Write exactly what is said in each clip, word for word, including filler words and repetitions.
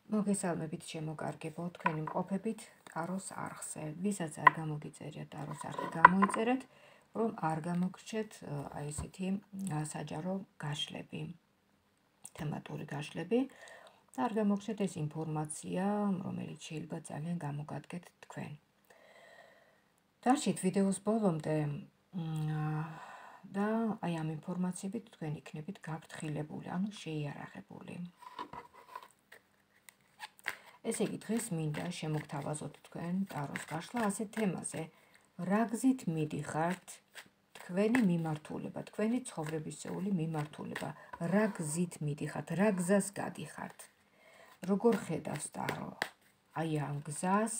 მოგესალმებით შემოგარგებო, თქვენი მყოფებით ტაროს არხზე. ვისაც არ გამოგიწერიათ ტაროს არხი, გამოიწერეთ, რომ არ გამოგრჩეთ აი ესეთი საჯარო გაშლები, თემატური გაშლები და არ გამოგრჩეთ ეს ინფორმაცია, რომელიც შეიძლება ძალიან გამოგადგეთ თქვენ. დარჩით ვიდეოს ბოლომდე და აი ამ ინფორმაციებით თქვენ იქნებით გაფრთხილებული, ანუ შეიარაღებული. ესე იგი, დღეს მინდა შემოგთავაზოთ თქვენ ტაროს გაშლა ასეთ თემაზე, რა გზით მიდიხართ თქვენი მიმართულება, თქვენი ცხოვრებისეული მიმართულება, რა გზით მიდიხართ, რა გზას გადიხართ, როგორ ხედავს ტარო აი ამ გზას,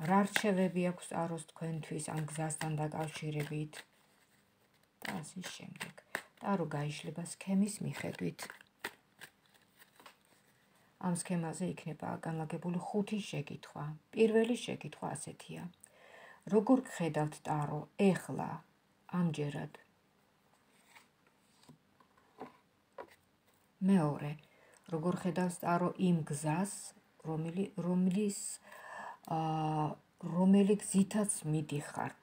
რა რჩევები აქვს ტაროს თქვენთვის ამ გზასთან დაკავშირებით და ასე შემდეგ. ტარო გაიშლება სქემის მიხედვით. ამ სქემაზე იქნება განლაგებული ხუთი შეკითხვა. პირველი შეკითხვა ასეთია. როგორ გხედავთ ტარო ეხლა, ამჯერად? მეორე, როგორ ხედავს ტარო იმ გზას, რომლის რომელი გზითაც მიდიხართ?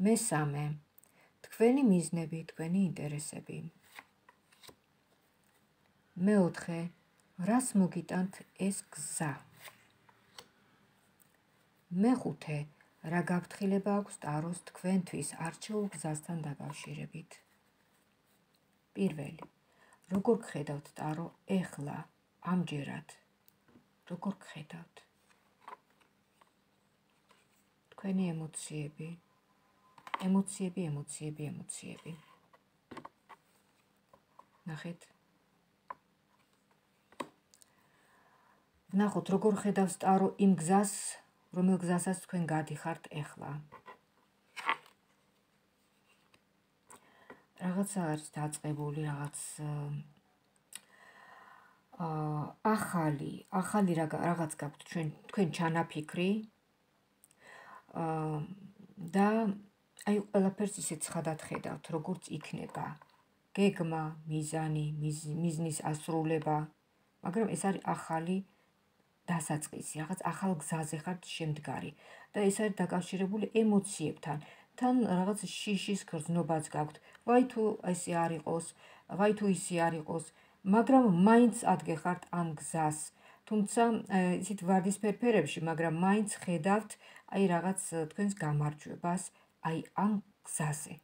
მესამე, თქვენი მიზნები, თქვენი ინტერესები. მეოთხე, რას მოგიტანთ ეს გზა? მეხუთე, რა გაფრთხილება აქვს ტაროს თქვენთვის არჩეულ გზასთან დაკავშირებით? პირველი, როგორ გხედავთ ტარო ეხლა, ამჯერად? როგორ გხედავთ? თქვენი ემოციები, ემოციები, ემოციები, ემოციები. ნახეთ. ნახოთ, როგორ ხედავს ტარო იმ გზას, რომელ გზასაც თქვენ გადიხართ ეხლა. რაღაცა არის დაწყებული, რაღაც ახალი, ახალი რაღაც გაქვთ თქვენ ჩანაფიქრი და აი ყველაფერს ისე ცხადად ხედავთ, როგორც იქნება. გეგმა, მიზანი, მიზნის ასრულება, მაგრამ ეს არის ახალი დასაწყისი, რაღაც ახალ გზაზე ხართ შემდგარი და ეს არის დაკავშირებული ემოციებთან. თან რაღაც შიშის გრძნობაც გაქვთ. ვაი თუ ესე არ იყოს, ვაი თუ ისე არ იყოს, მაგრამ მაინც ადგეხართ ამ გზას. თუმცა ისეთ ვარდისფერ ფერებში, მაგრამ მაინც ხედავთ აი რაღაც თქვენს გამარჯვებას აი ამ გზაზე.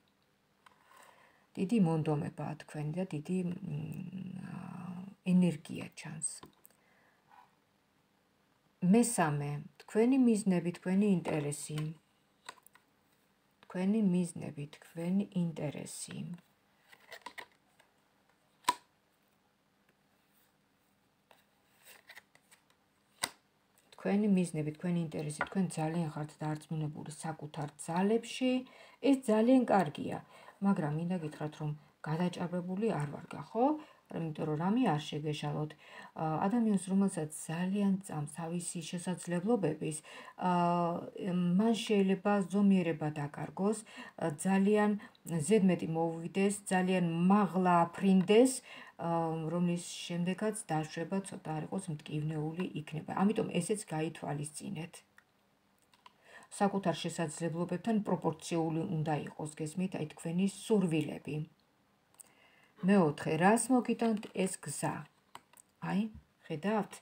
დიდი მონდომებაა თქვენი და დიდი ენერგია ჩანს. მესამე, თქვენი მიზნები, თქვენი ინტერესი. თქვენი მიზნები, თქვენი ინტერესი. თქვენი მიზნები, თქვენი ინტერესი, თქვენ ძალიან ხართ დარწმუნებული საკუთარ ძალებში, ეს ძალიან კარგია, მაგრამ მინდა გითხრათ, რომ გადაჭარბებული არ ვარ, ხო? იმიტომ რომ რამე არ შეგეშალოთ. ადამიანს, რომელსაც ძალიან წამს თავისი შესაძლებლობების, მან შეიძლება ზომიერება დაკარგოს, ძალიან ზედმეტი მოუვიდეს, ძალიან მაღლა აფრინდეს, რომლის შემდეგაც დაშვება ცოტა არ იყოს მტკივნეული იქნება. ამიტომ ესეც გაითვალისწინეთ. საკუთარ შესაძლებლობებთან პროპორციული უნდა იყოს, გესმით, აი თქვენი სურვილები. მეოთხე, რას მოგიტანთ ეს გზა? აი, ხედავთ?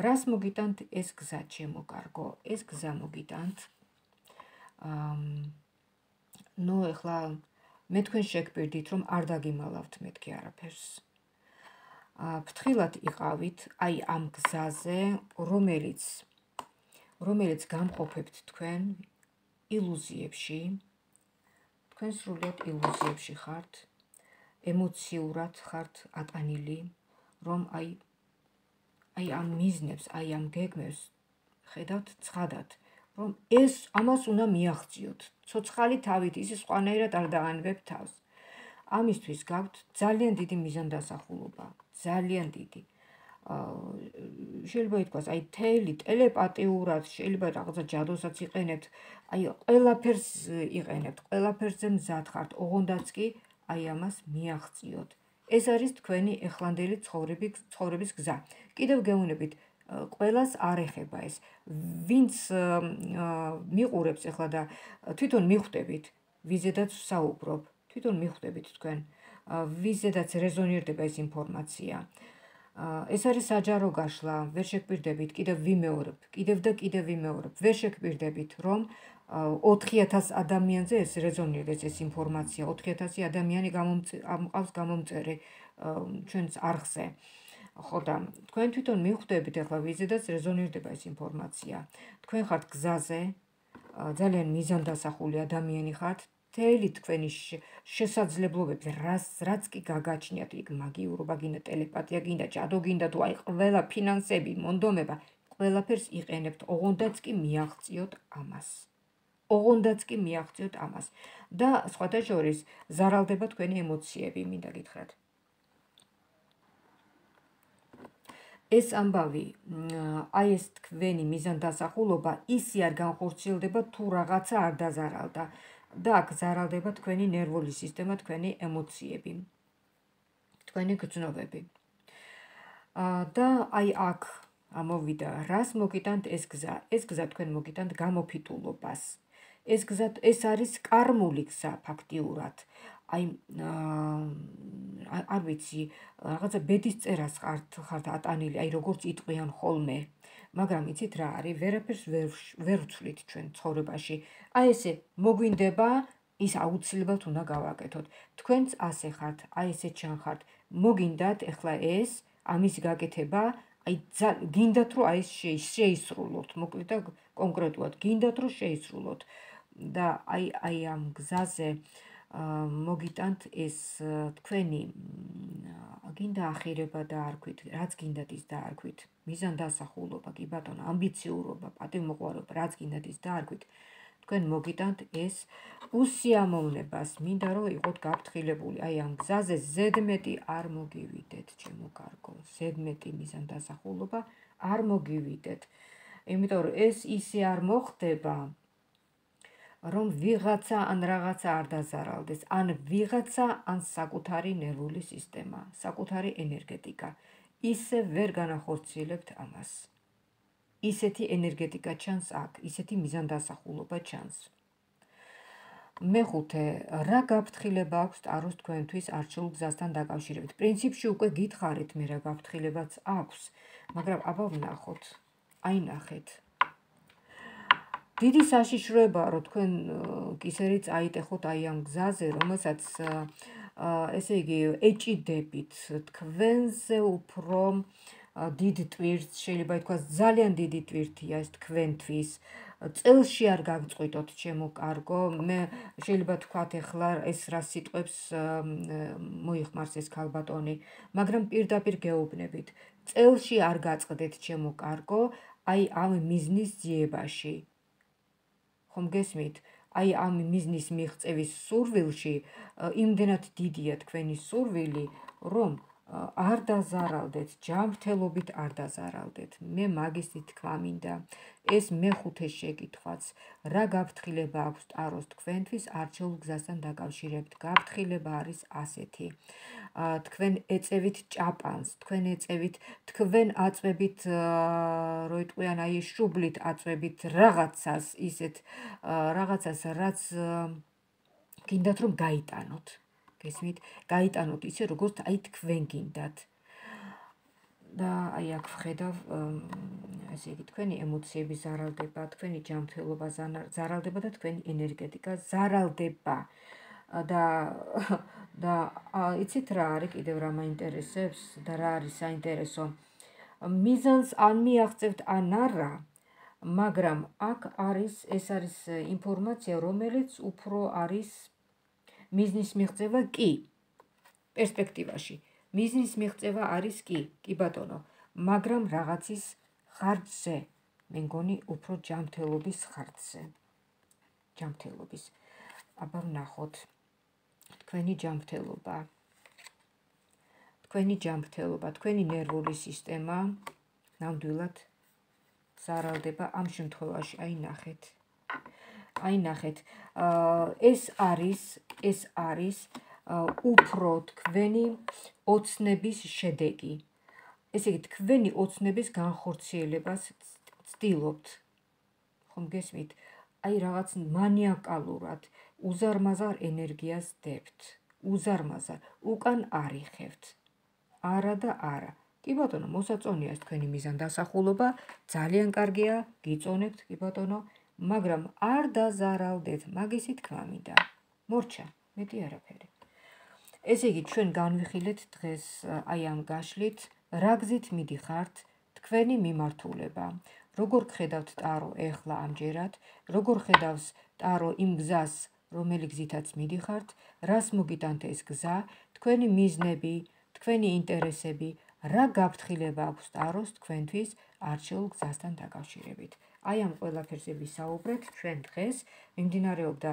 რას მოგიტანთ ეს გზა, ჩემო კარგო? ეს გზა მოგიტანთ. ნუ ეხლა მე თქვენ შეგპირდით, რომ არ დაგიმალავთ მეთქი არაფერს. ფრთხილად იყავით აი ამ გზაზე, რომელიც რომელიც გამყოფებთ თქვენ ილუზიებში. თქვენ სრულიად ილუზიებში ხართ. ემოციურად ხართ ატანილი, რომ აი აი ამ მიზნებს, აი ამ გეგმებს ხედავთ ცხადად, რომ ეს ამას უნდა მიაღწიოთ. ცოცხალი თავით ისე სხვანაირად არ დაანებებთ თავს. ამისთვის გაქვთ ძალიან დიდი მიზანდასახულობა, ძალიან დიდი. შეიძლება ითქვას, აი თელი ტელეპათიურად, შეიძლება რაღაცა ჯადოსაც იყენებთ, აი ყველაფერს იყენებთ, ყველაფერზე მზად ხართ, ოღონდაც კი აი ამას მიაღწიოთ. ეს არის თქვენი ეხლანდელი ცხოვრების გზა. კიდევ გეუბნებით, ყველას არ ეხება ეს. ვინც მიყურებს ახლა და თვითონ მიხვდებით, ვიზედაც საუბრობ, თვითონ მიხვდებით თქვენ, ვიზედაც რეზონირდება ეს ინფორმაცია. ეს არის საჯარო გაშლა, ვერ შეგპირდებით, კიდევ ვიმეორებ, კიდევ და კიდევ ვიმეორებ, ვერ შეგპირდებით, რომ ოთხი ათას ადამიანზე ეს რეზონირდეს ეს ინფორმაცია, ოთხი ათასი ადამიანი გამომყავს გამომწერი ჩვენს არხზე. ხო და თქვენ თვითონ მიხვდებით ახლა ვიზედაც რეზონირდება ეს ინფორმაცია. თქვენ ხართ გზაზე, ძალიან მიზანდასახული ადამიანი ხართ, მთელი თქვენი შესაძლებლობები, რაც კი გაგაჩნიათ, იქ მაგიურობა გინდა, ტელეპათია გინდა, ჯადო გინდა, თუ აი ყველა ფინანსები, მონდომება, ყველაფერს იყენებთ, ოღონდაც კი მიაღწიოთ ამას. ოღონდაც კი მიაღწიოთ ამას. და სხვათა შორის ზარალდება თქვენი ემოციები, მინდა გითხრათ. ეს ამბავი, აი ეს თქვენი მიზანდასახულობა ისე არ განხორციელდება, თუ რაღაცა არ დაზარალდა. და აქ ზარალდება თქვენი ნერვული სისტემა, თქვენი ემოციები, თქვენი გრძნობები. და აი აქ ამოვიდა, რას მოგიტანთ ეს გზა? ეს გზა თქვენ მოგიტანთ გამოფიტულობას. ეს გზა ეს არის კარმული გზა ფაქტიურად. აი არ ვიცი, რაღაცა ბედის წერას ხართ ატანილი, აი როგორც იტყვიან ხოლმე. მაგრამ იცით რა არის, ვერაფერს ვერ ვცვლით ჩვენ ცხოვრებაში. აი ესე მოგვინდება, ის აუცილებლად უნდა გავაკეთოთ. თქვენც ასე ხართ, აი ესე ჩანხართ. მოგინდათ ეხლა ეს, ამის გაკეთება, აი გინდათ რომ აი შეისრულოთ, მოკლედ და კონკრეტულად გინდათ რომ შეისრულოთ. და აი აი ამ გზაზე მოგიტანთ ეს თქვენი გინდა ახირება და არქვით, რაც გინდათ ის დაარქვით, მიზანდასახულობა, კი ბატონო, ამბიციურობა, პატივმოყვარეობა, რაც გინდათ ის დაარქვით, თქვენ მოგიტანთ ეს უსიამოვნებას, მინდა რომ იყოთ გაფრთხილებული, აი ამ გზაზე ზედმეტი არ მოგივიდეთ, ჩემო კარგო, ზედმეტი მიზანდასახულობა არ მოგივიდეთ, იმიტომ რომ ეს ისე არ მოხდება, რომ ვიღაცა ან რაღაცა არ დაზარალდეს, ან ვიღაცა ან საკუთარი ნერვული სისტემა, საკუთარი ენერგეტიკა. ისე ვერ განახორციელებთ ამას. ისეთი ენერგეტიკა ჩანს აქ, ისეთი მიზანდასახულობა ჩანს. მეხუთე, რა გაფრთხილება აქვს ტაროს თქვენთვის არჩეულ გზასთან დაკავშირებით? პრინციპში უკვე გითხარით მე რა გაფრთხილებაც აქვს, მაგრამ აბა ვნახოთ. აი ნახეთ. დიდი საშიშროებაა, რომ თქვენ კისერი წაიტეხოთ აი ამ გზაზე, რომელსაც ესე იგი ეჭიდებით, თქვენზე უფრო დიდ ტვირთს, შეიძლება ითქვას ძალიან დიდი ტვირთია ეს თქვენთვის. წელში არ გაგწყვიტოთ, ჩემო კარგო, მე შეიძლება თქვათ ეხლა ეს რა სიტყვებს მოიხმარს ეს ქალბატონი, მაგრამ პირდაპირ გეუბნებით. წელში არ გაწყდეთ, ჩემო კარგო, აი ამ მიზნის ძიებაში. ხომ გესმით? აი ამ მიზნის მიღწევის სურვილში იმდენად დიდია თქვენი სურვილი, რომ არ დაზარალდეთ, ჯანმრთელობით არ დაზარალდეთ. მე მაგისი თქვა მინდა. ეს მეხუთე შეკითხვაც, რა გაფრთხილება აქვს ტაროს თქვენთვის არჩეულ გზასთან დაკავშირებით? გაფრთხილება არის ასეთი. თქვენ ეწევით ჭაპანს, თქვენ ეწევით, თქვენ აწვევით, რო იტყვიან აი შუბლით აწვევით რაღაცას, ისეთ რაღაცას, რაც გინდათ რომ გაიტანოთ. გესმით? გაიტანოთ ისე, როგორც აი თქვენ გინდათ. და აი აქ ვხედავ, ესე იგი, თქვენი ემოციები ზარალდება, თქვენი ჯანმრთელობა ზარალდება და თქვენი ენერგეტიკა ზარალდება. და და იცით რა არის კიდევ რა მაინტერესებს და რა არის საინტერესო? მიზანს ან მიაღწევთ ან არა, მაგრამ აქ არის, ეს არის ინფორმაცია, რომელიც უფრო არის მიზნის მიღწევა კი, პერსპექტივაში. მიზნის მიღწევა არის კი, კი ბატონო, მაგრამ რაღაცის ხარჯზე, მე მგონი უფრო ჯანმრთელობის ხარჯზე. ჯანმრთელობის. აბა ვნახოთ. თქვენი ჯანმრთელობა. თქვენი ჯანმრთელობა, თქვენი ნერვული სისტემა ნამდვილად ზარალდება ამ შემთხვევაში, აი ნახეთ. აი ნახეთ. ეს არის, ეს არის უფრო თქვენი ოცნების შედეგი. ესე იგი, თქვენი ოცნების განხორციელებას ცდილობთ. ხომ გესმით? აი რაღაც მანიაკალურად, უზარმაზარ ენერგიას დებთ. უზარმაზარ, უკან არიხევთ. არა და არა. კი ბატონო, მოსაწონია თქვენი მიზანდასახულობა, ძალიან კარგია, გიწონებთ, კი ბატონო, მაგრამ არ დაზარალდეთ, მაგისი თქმა მინდა. მორჩა, მეტი არაფერი. ესე იგი, ჩვენ განვიხილეთ დღეს აი ამ გაშლით, რა გზით მიდიხართ თქვენი მიმართულება. როგორ ხედავთ ტარო ეხლა ამჯერად, როგორ ხედავს ტარო იმ გზას, რომელი გზითაც მიდიხართ, რას მოგიტანთ ეს გზა, თქვენი მიზნები, თქვენი ინტერესები, რა გაფრთხილება აქვს ტაროს თქვენთვის არჩეულ გზასთან დაკავშირებით. აი ამ ყველაფერზე ვისაუბრეთ ჩვენ დღეს. მიმდინარეობდა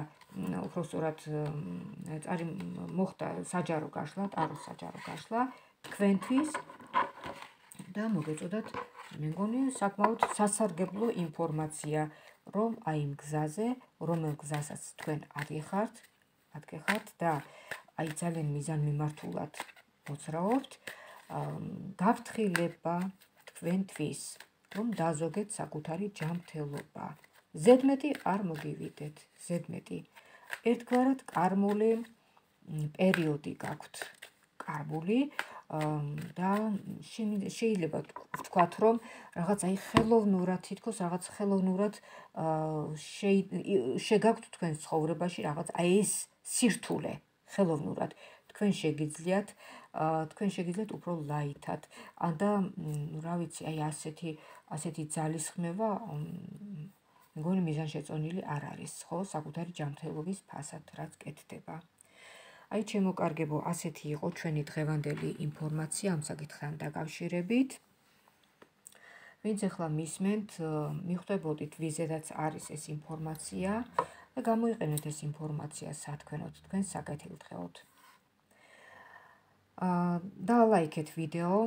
უბრალოდ წარი მოხდა საჯარო გაშლა, ტაროს საჯარო გაშლა თქვენთვის და მოგეწოდათ, მე მგონი საკმაოდ სასარგებლო ინფორმაცია, რომ აი იმ გზაზე, რომელ გზასაც თქვენ ადგეხართ, ადგეხართ და აი ძალიან მიზანმიმართულად მოძრაობთ, გაფრთხილება თქვენთვის, რომ დაზოგეთ საკუთარი ჯანმრთელობა. ზედმეტი არ მოგივიდეთ, ზედმეტი. ერთგვარად კარმული პერიოდი გაქვთ კarbuli და შეიძლება ვთქვათ, რომ რაღაც აი ხელოვნურად, თითქოს რაღაც ხელოვნურად შეგაქვთ თქვენ ცხოვრებაში რაღაც აი ეს სირთულე ხელოვნურად. თქვენ შეგიძლიათ, თქვენ შეგიძლიათ უფრო ლაითად. და რა ვიცი, აი ასეთი ასეთი ძალისხმევა მგონი მიზანშეწონილი არ არის, ხო, საკუთარი ჯანმრთელობის ფასად რაც კეთდება. აი ჩემო კარგებო, ასეთი იყო ჩვენი დღევანდელი ინფორმაცია ამ საკითხთან დაკავშირებით. ვინც ახლა მისმენთ, მიხვდებოდით ვიზედაც არის ეს ინფორმაცია და გამოიყენეთ ეს ინფორმაცია სათქმელოდ თქვენ საკეთილდღეოდ. დალაიქეთ ვიდეო,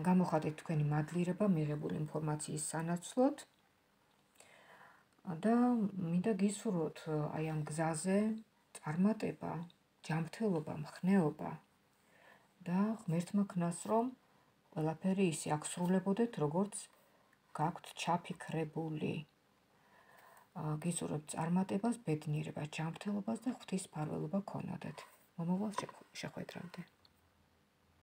გამოხატეთ თქვენი მადლიერება მიღებული ინფორმაციის სანაცვლოდ და მინდა გისურვოთ აი ამ გზაზე წარმატება, ჯანმრთელობა, მხნეობა და ღმერთმა ქნას, რომ ყველაფერი ისე აღსრულებოდეთ, როგორც გაქვთ ჩაფიქრებული. გისურვებთ წარმატებას, ბედნიერებას, ჯანმრთელობას და ღვთისმფარველობა გქონოდეთ. მომავალ შეხვედრამდე.